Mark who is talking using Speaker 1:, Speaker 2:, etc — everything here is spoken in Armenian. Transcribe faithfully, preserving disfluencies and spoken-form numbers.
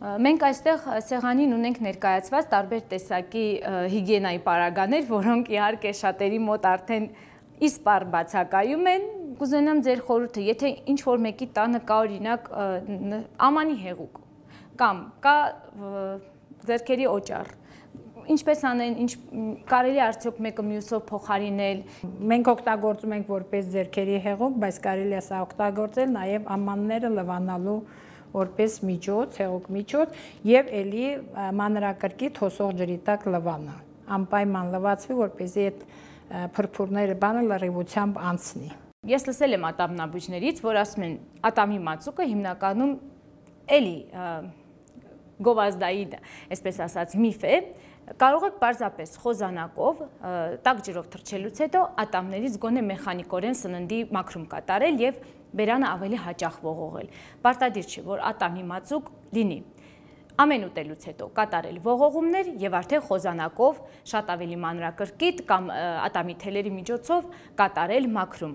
Speaker 1: Մենք այստեղ սեղանին ունենք ներկայացված տարբեր տեսակի հիգիենայի պարագաներ, որոնք իհարկե շատերի մոտ արդեն իսպառ բացակայում են։ Կուզենամ ձեր խորհուրդը, եթե ինչ-որ մեկի տանը կա օրինակ ամանի հեղուկ կամ կա ձեռքերի օճառ, ինչպես անեն, ինչ կարելի արդյոք մեկը մյուսով փոխարինել։
Speaker 2: Մենք օգտագործում ենք որպես ձեռքերի հեղուկ, բայց կարելի է սա օգտագործել նաև ամանները լվանալու որպես միջոց, հեղուկ միջոց եւ ելի մանրակրկիտ հոսող ջրի տակ լվանա։ Անպայման լվացվի, որպեսզի այդ փրփուրները բանը լրիվությամբ անցնի։
Speaker 1: Ես լսել եմ ատամնաբույժներից, որ ասում են, ատամի մածուկը հիմնականում էլի գովազդային, այսպես ասած, միֆ է։ Կարող եք պարզապես խոզանակով, տաք ջրով թռչելուց հետո ատամներից գոնե մեխանիկորեն սննդի մաքրում կատարել եւ բերանը ավելի հաճախ ողողել։ Պարտադիր չէ, որ ատամի մածուկ լինի։ Ամեն ուտելուց հետո կատարել ողողումներ եւ արդեն խոզանակով շատ ավելի մանրակրկիտ կամ ատամի թելերի միջոցով կատարել մաքրում։